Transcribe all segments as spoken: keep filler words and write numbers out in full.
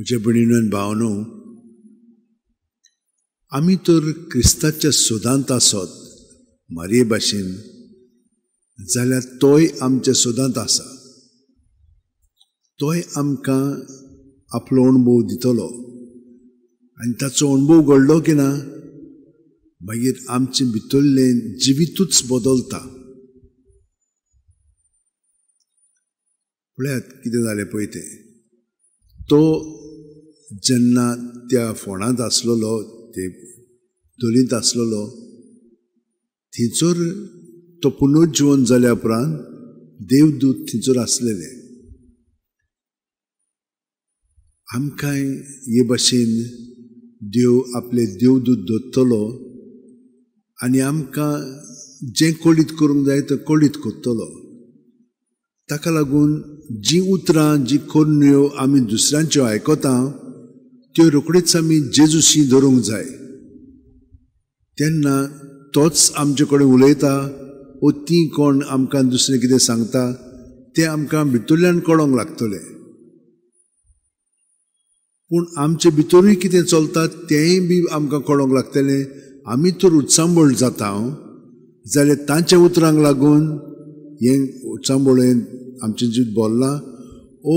म्हज्या भयणीनो आनी भावांनो, आमी तर क्रिस्ताच्या सोदांत आसत मारये भाशेन जाल्यार तोय आमच्या सोदांत आसा. तोय आमकां आपलो अणभव दितलो आनी ताचो अणभव घडलो की ना मागीर आमचें भितरलें जिवितूच बदलता. पळयात कितें जालें पळय तें. तो जेन्ना त्या फोंडांत आसलेलो, ते धोलींत आसलेलो, थंयसर तो पुनर्जीवन जाल्या उपरांत देवदूत थंयसर आसलेले. आमकांय हे भाशेन देव आपले देवदूत दवरतलो आनी आमकां जें कळीत करूंक जाय तें कळीत करतलो. ताका लागून जीं उतरां जी करण्यो आमी दुसऱ्यांच्यो आयकता त्यो रोखडीच आमी जेजूशी धरूंक जाय. तेन्ना तोच आमचे कडेन उलयता वो ती कोण आमकां दुसरें कितें सांगता तें आमकां भितरल्यान कळोंक लागतलें. पूण आमचे भितरूय कितें चलता तेंय बी आमकां कळोंक लागतलें. आमी तर उचांबळ जाता जाल्यार तांच्या उतरांक लागून हें उचांबळें आमचें जिवीत भरलां ओ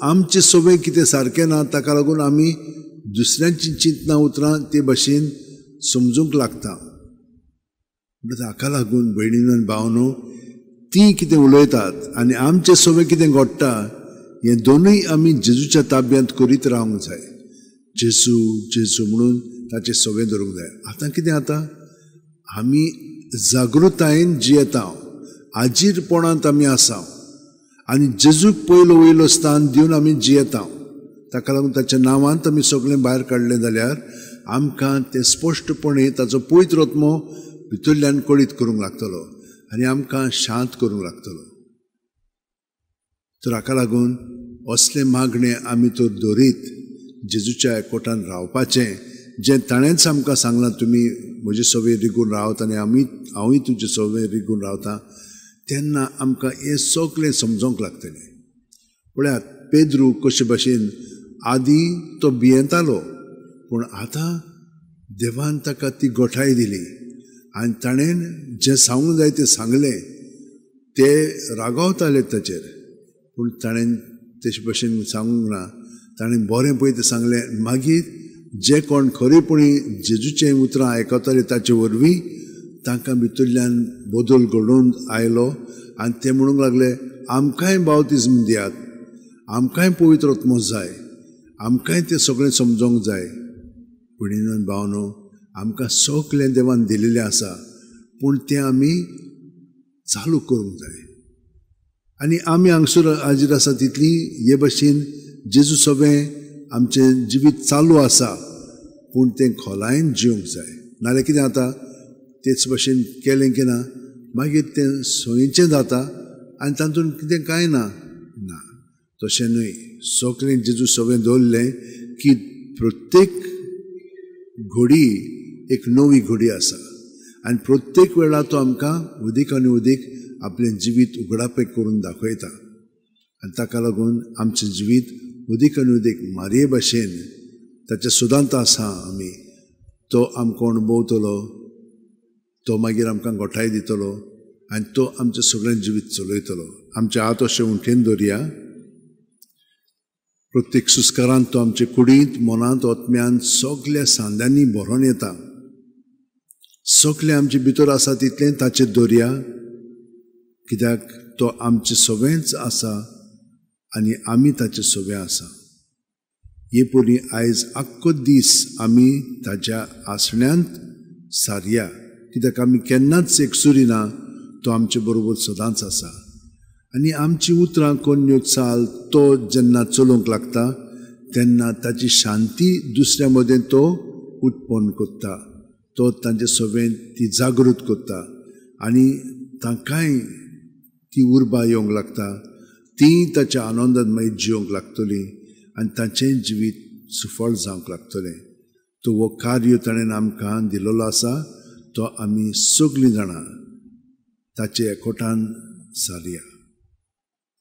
आमचें सगळें कितें सारकें ना ताका लागून आमी दुसऱ्यांची चिंतना उतरां ते भाशेन समजूंक लागता. म्हणटकच हाका लागून भयणीनो आनी भावांनो, तीं कितें उलयतात आनी आमचें सगळें कितें घडटा हें दोनूय आमी जेजूच्या ताब्यांत करीत रावंक जाय. जेजू जेजू म्हणून ताचें सगळें धरूंक जाय. आतां कितें जाता, आमी जागृतायेन जियेता, आजीरपणांत आमी आसा आनी जेजूक पयलो वयलो स्थान दिवन आमी जियेता. ताका लागून ताच्या नांवांत आमी सगळें भायर काडलें जाल्यार आमकां तें स्पश्टपणे ताचो पवित्र आत्मो भितरल्यान कळीत करूंक लागतलो आनी आमकां शांत करूंक लागतलो. तर हाका लागून असलें मागणें आमी तर दवरीत जेजूच्या एकवटान रावपाचें, जें ताणेंच आमकां सांगलां, तुमी म्हजे सवे रिगून रावत आनी आमी हांवूय तुजे सवे रिगून रावता, तेन्ना आमकां हें सगळें समजोंक लागतलें. पळयात पेद्रू कशे भाशेन आदीं तो भियेतालो, पूण आतां देवान ताका ती गोठाय दिली आनी ताणें जें सांगूंक जाय तें सांगलें. ते रागावताले ताचेर, पूण ताणें तेशे भशेन सांगूंक ना, ताणें बरें पळय तें सांगलें. मागीर जे कोण खरेपणी जेजूचें उतरां आयकताले ताचे वरवीं तांकां भितरल्यान बदल घडोवन आयलो आनी ते म्हणूंक लागले, आमकांय बावतिज्म दियात, आमकांय पवित्र आत्मो जाय, आमकांय तें सगळें समजोंक जाय. भयणीनो आनी भावांनो, आमकां सगळें देवान दिलेलें आसा, पूण तें आमी चालू करूंक जाय. आनी आमी हांगसर हाजीर आसा तितली हे भाशेन जेजू सगळें आमचें जिवीत चालू आसा, पूण तें खोलायेन जिवंक जाय. नाजाल्यार कितें जाता, तेच भाशेन केलें की ना मागीर तें सोयीचें जाता आनी तातूंत कितें कांय ना. ना, तशें न्हय. सगळें जेजू सगळें दवरलें की प्रत्येक घडी एक नवी घडी आसा आनी प्रत्येक वेळा तो आमकां उदीक आनी उदीक आपलें जिवीत उगडापें करून दाखयता आनी ताका लागून आमचें जिवीत उदीक आनी उदीक मारये भाशेन ताच्या सुदांत आसा आमी, तो आमकां अणभवतलो, तो मागीर आमकां गोठाय दितलो आनी तो आमचें सगळें जिवीत चलयतलो. आमचे हात अशें उंठेन दवरया. प्रत्येक सुस्कारांत तो आमचे कुडींत, मनांत, आत्म्यान सगल्या सांद्यांनी भरोन येता. सगळें आमचे भितर आसा तितलें ताचेर दवरया, कित्याक तो आमचें सगळेंच आसा आनी आमी ताचें सगळें आसा. हे परी आयज आख्खो दीस आमी ताच्या आसण्यांत सारया, कित्याक आमी केन्नाच एकसुरी ना, तो आमचे बरोबर सदांच आसा. आनी आमची उतरां कोन्यो चाल तो जेन्ना चलोवंक लागता तेन्ना ताची शांती दुसऱ्या मदें तो उत्पन्न करता, तो तांचे सगळें ती जागृत करता आनी तांकांय ती उर्बा येवंक लागता, ती ताच्या आनंदान मागीर जिवंक लागतली आनी तांचें जिवीत सुफळ जावंक लागतलें. तो हो कार्य ताणें आमकां दिलेलो आसा, तो आमी सगळीं जाणां ताचे एकवटान सारया.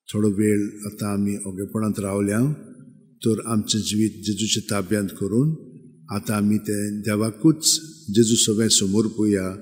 थोडो वेळ आतां आमी ओगेपणांत रावल्या. तर आमचें जिवीत जेजूच्या ताब्यांत करून आतां आमी तें देवाकूच जेजू सगळें समर्पुया.